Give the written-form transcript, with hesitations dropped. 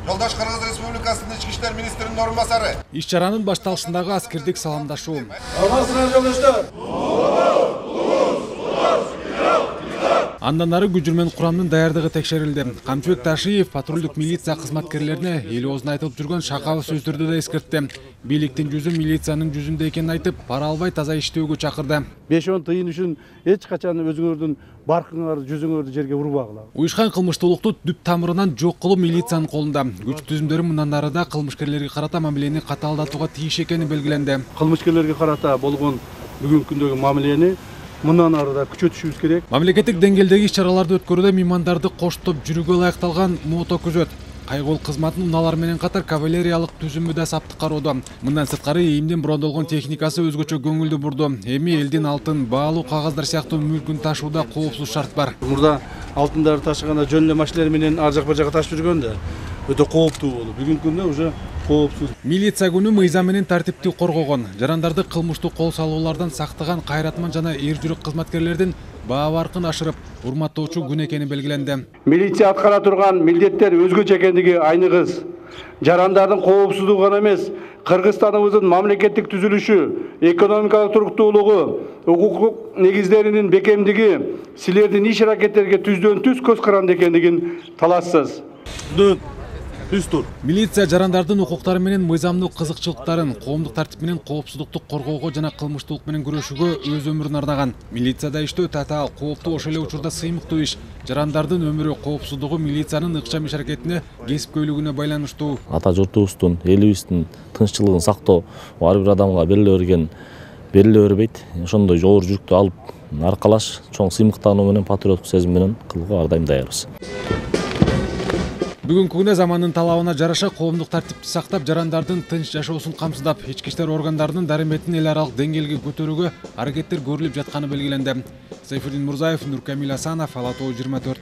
Жолдош Кыргыз Республикасынын ички иштер министринин орун басары. Иш чаранын башталышындагы аскердик саламдашуу. Алмасыңар жолдоштор. Андан ары күжүрмөн курамдын даярдыгы текшерилди. Камчыбек Ташиев патрулдук милиция кызматкерлерине эл оозуна айтылып жүргөн шакалы сөздөрдү да эскертти. Бийликтин жүзү милициянын жүзүндө экенин айтып, пара албай таза иштөөгө чакырды. 5-10 тыйын үчүн эч качан өзүңөрдүн баркыңар, жүзүңөрдү жерге урбагыла. Уюшкан кылмыштуулукту түп тамырынан жок кылуу милициянын колунда. Күч түзүмдөрү мындан ары да кылмышкерлерге карата мамилени катаалдатууга тийиш экени белгиленди. Кылмышкерлерге карата болгон бүгүнкү күндөгү мамилени мындан ары да күчөтүшүбүз керек. Мамлекеттик деңгээлдеги иш-чараларды өткөрүүдө меймандарды коштоп жүрүүгө ылайыкталган мото күзөт. Кайгыл кызматтын унаалар менен катар кавалериялык түзүмү да саптык кароодо. Мындан сырткары ИИМдин брондолгон техникасы өзгөчө көңүлдү бурду. Эми элдин алтын, баалуу кагаздар сыяктуу мүлкүн ташууда коопсуз шарт бар. Мурда алтындарды ташыганда жөн эле машиналар менен ар жак бир жака ташып жүргөндө өтө кооптуу болду. Бүгүнкү күндө уже коопсуз. Милиция күнү мыйзам менен тартипти коргогон, жарандарды кылмыштуу кол салуулардан сактаган кайратман жана эр жүрөк кызматкерлердин баа баркын ашырып, урматтоочу күн экени белгиленди. Милиция аткара турган милдеттер өзгөчө экендиги айныгыз. Жарандардын коопсуздугу гана эмес, Кыргызстаныбыздын мамлекеттик түзүлүшү, экономикалык туруктуулугу, укуктук негиздеринин бекемдиги силердин иш аракеттерге түздөн түз көз каранды экендигин талашсыз. Милиция жарандардын укуктары менен мыйзамдуу кызыкчылыктарын, коомдук тартип менен коопсуздукту коргоого жана кылмыштуулук менен күрөшүүгө өз өмүрүн арнаган. Милицияда иштөө татаал, кооптуу, ошол эле учурда сыймыктуу иш. Жарандардын өмүрү, коопсуздугу милициянын ыкчам иш аракетине, кесипкөйлүгүнө байланыштуу. Ата журтубуздун, элибиздин тынччылыгын сактоо ар бир адамга бериле бербейт. Ошондой жогору жүктү алып аркалаш, чоң сыймыктануу менен патриоттук сезим менен кылууга ар дайым даярбыз. Бүгүнкү күндө замандын талабына жараша коомдук тартипти сактап, жарандардын тынч жашоосун камсыздап, ички иштер органдарынын дарыметин эл аралык деңгээлге көтөрүүгө аракеттер көрүлүп жатканы белгиленди. Сайфуддин Мурзаев, Нуркамил Асанов, Ала Тоо 24.